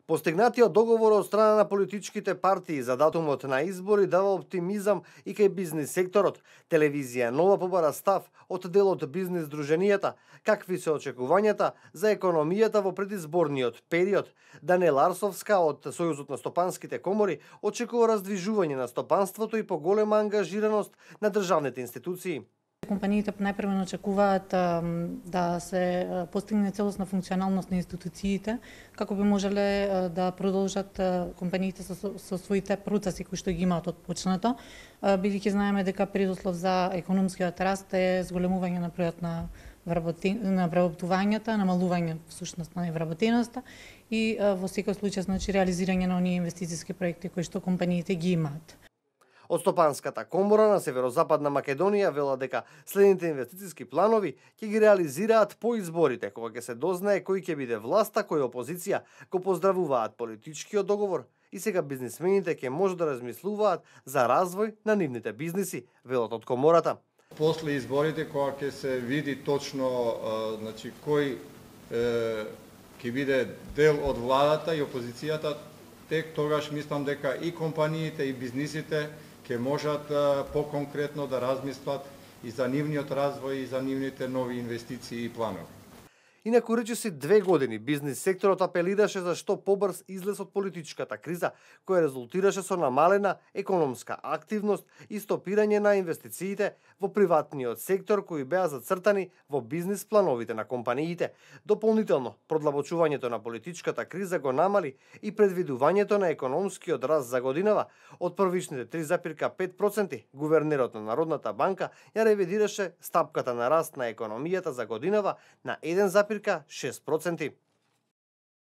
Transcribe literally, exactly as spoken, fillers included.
Постигнатиот договор од страна на политичките партии за датумот на избори дава оптимизам и кај бизнис секторот. Телевизија Нова побара став од дел од бизнис здруженијата, какви се очекувањата за економијата во предизборниот период. Даниела Арсовска од Сојузот на стопанските комори очекува раздвижување на стопанството и поголема ангажираност на државните институции. Компаниите најпрвено очекуваат да се постигне целосна функционалност на институциите, како би можеле да продолжат компаниите со, со своите процеси кои што ги имаат отпочнато, бидејќи знаеме дека предуслов за економскиот раст е зголемување на бројот на на вработувањата, намалување всушност на вработеноста и во секој случај значи реализирање на оние инвестициски проекти кои што компаниите ги имаат. Од Стопанската комора на Северозападна Македонија велат дека следните инвестициски планови ќе ги реализираат по изборите, кога ќе се дознае кој ќе биде власта, кој опозиција, го поздравуваат политичкиот договор и сега бизнисмените ќе може да размислуваат за развој на нивните бизниси, велат од комората. После изборите, кога ќе се види точно значи кој ќе биде дел од владата и опозицијата, тек тогаш мислам дека и компаниите и бизнисите ќе можат по-конкретно да размислат и за нивниот развој и за нивните нови инвестиции и планови. Инаку речиси две години бизнис секторот апелираше за што побрз излез од политичката криза, која резултираше со намалена економска активност и стопирање на инвестициите во приватниот сектор кои беа зацртани во бизнис плановите на компаниите. Дополнително, продлабочувањето на политичката криза го намали и предвидувањето на економскиот раст за годинава од првичните три запирка пет проценти. Гувернерот на Народната банка ја ревидираше стапката на раст на економијата за годинава на еден запирка шест проценти.